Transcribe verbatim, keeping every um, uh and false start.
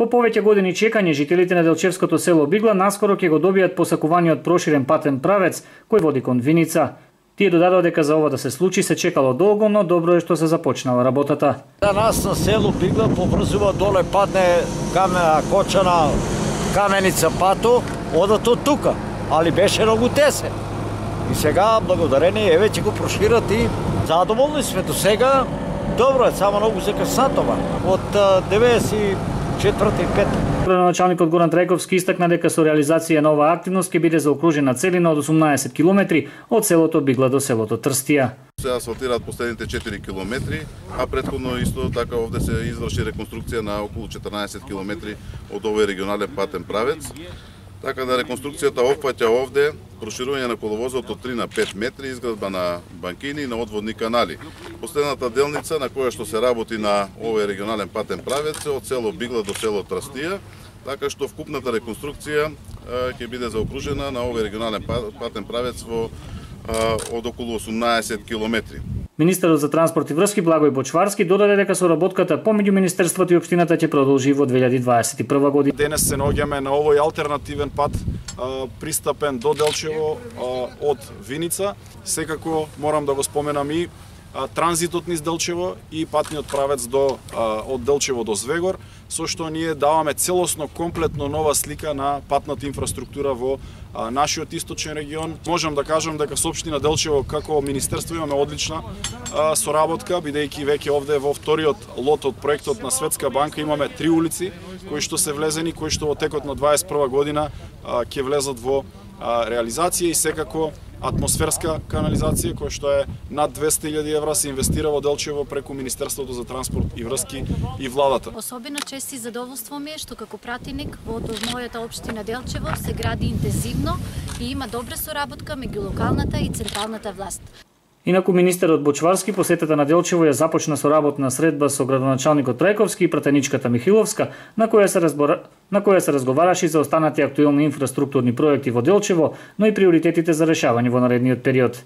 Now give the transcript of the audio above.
По повеќе години чекање, жителите на Делчевското село Бигла наскоро ќе го добијат посакуваниот проширен патен правец кој води кон Виница. Тие додадоа дека за ова да се случи се чекало долго, но добро е што се започнала работата. За нас на село Бигла поврзува доле падне камена кочана, каменица пато, одат од тука, али беше многу тесен. И сега благодарение еве ќе го прошират и задоволни сме до сега. Добро е, само многу се касатова од деветдесет и четврта и пета. Градоначалникот Горан Трајковски истакна дека со реализација на оваа активност ќе биде заокружена целина од осумнаесет километри од селото Бигла до селото Трстија. Се асфалтираат последните четири километри, а претходно исто така овде се изврши реконструкција на околу четрнаесет километри од овој регионален патен правец. Така да реконструкцијата опфаќа овде проширување на коловозот од три на пет метри, изградба на банкини и на одводни канали. Последната делница на која што се работи на овој регионален патен правец е од село Бигла до село Трстија, така што вкупната реконструкција ќе биде заокружена на овој регионален патен правец во од околу осумнаесет километри. Министерот за транспорт и врски Благој Бочварски додаде дека соработката помеѓу министерството и општината ќе продолжи во две илјади дваесет и прва година. Денес се наоѓаме на овој алтернативен пат пристапен до Делчево од Виница. Секако морам да го споменам и транзитот низ Делчево и патниот правец до од Делчево до Звегор, со што ние даваме целосно комплетно нова слика на патната инфраструктура во нашиот источен регион. Можам да кажам дека со општина Делчево како министерство имаме одлична соработка, бидејќи веќе овде во вториот лот од проектот на Светска банка имаме три улици кои што се влезени, кои што во текот на дваесет и прва година ќе влезат во реализација и секако атмосферска канализација која што е над двесте илјади евра се инвестира во Делчево преку Министерството за транспорт и врски и владата. Особено чест и задоволство ми е што како пратеник во мојата општина Делчево се гради интензивно и има добра соработка меѓу локалната и централната власт. Инаку министерот Бочварски посетата на Делчево ја започна со работна средба со градоначалникот Трајковски и пратеничката Михиловска, на која се разбора... на која се разговараше за останати актуелни инфраструктурни проекти во Делчево, но и приоритетите за решавање во наредниот период.